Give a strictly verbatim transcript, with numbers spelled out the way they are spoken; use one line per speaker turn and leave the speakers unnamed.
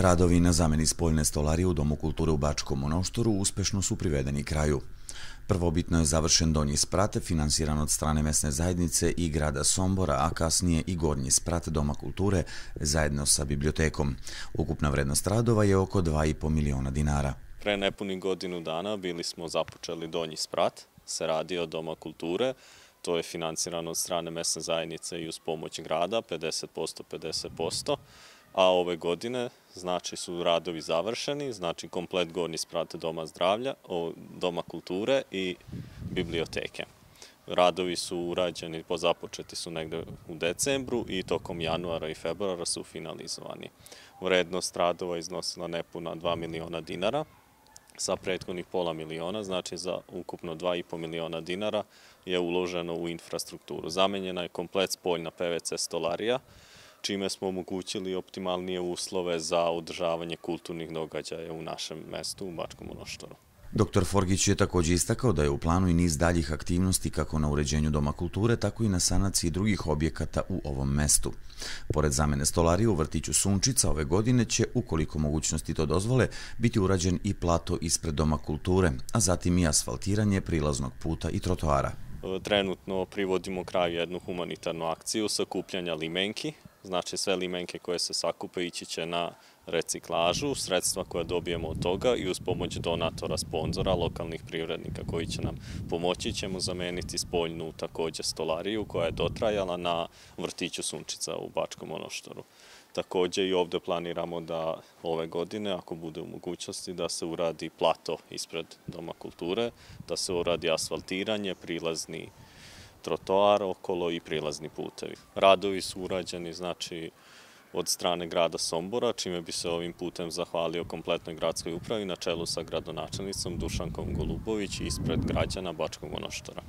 Radovi na zameni spoljne stolarije u Domu kulture u Bačkom Monoštoru uspešno su privedeni kraju. Prvobitno je završen donji sprat, finansiran od strane mesne zajednice i grada Sombora, a kasnije i gornji sprat Doma kulture zajedno sa bibliotekom. Ukupna vrednost radova je oko dva i po miliona dinara.
Pre nepunih godinu dana bili smo započeli donji sprat, se radi od Doma kulture. To je finansirano od strane mesne zajednice i uz pomoć grada, pedeset posto, pedeset posto. A ove godine, znači, su radovi završeni, znači komplet gornji sprat Doma zdravlja, Doma kulture i biblioteke. Radovi su urađeni, pozapočeti su negde u decembru i tokom januara i februara su finalizovani. Vrednost radova iznosila nepuna dva miliona dinara, sa prethodnih pola miliona, znači za ukupno dva i po miliona dinara je uloženo u infrastrukturu. Zamenjena je komplet spoljna P V C stolarija, čime smo omogućili optimalnije uslove za održavanje kulturnih događaja u našem mestu, u Bačkom Monoštoru.
Doktor Forgić je također istakao da je u planu i niz daljih aktivnosti kako na uređenju Doma kulture, tako i na sanaciji drugih objekata u ovom mestu. Pored zamene stolarije u vrtiću Sunčica ove godine će, ukoliko mogućnosti to dozvole, biti urađen i plato ispred Doma kulture, a zatim i asfaltiranje prilaznog puta i trotoara.
Trenutno privodimo kraju jednu humanitarnu akciju sakupljanja limenki. Znači sve limenke koje se sakupe ići će na reciklažu, sredstva koja dobijemo od toga i uz pomoć donatora, sponzora, lokalnih privrednika koji će nam pomoći, ćemo zameniti spoljnu također stolariju koja je dotrajala na vrtiću Sunčica u Bačkom Monoštoru. Također i ovdje planiramo da ove godine, ako bude u mogućnosti, da se uradi plato ispred Doma kulture, da se uradi asfaltiranje, prilazni trotoar okolo i prilazni putevi. Radovi su urađeni, znači, od strane grada Sombora, čime bi se ovim putem zahvalio kompletnoj gradskoj upravi na čelu sa gradonačelnicom Dušankom Golubović ispred građana Bačkog Monoštora.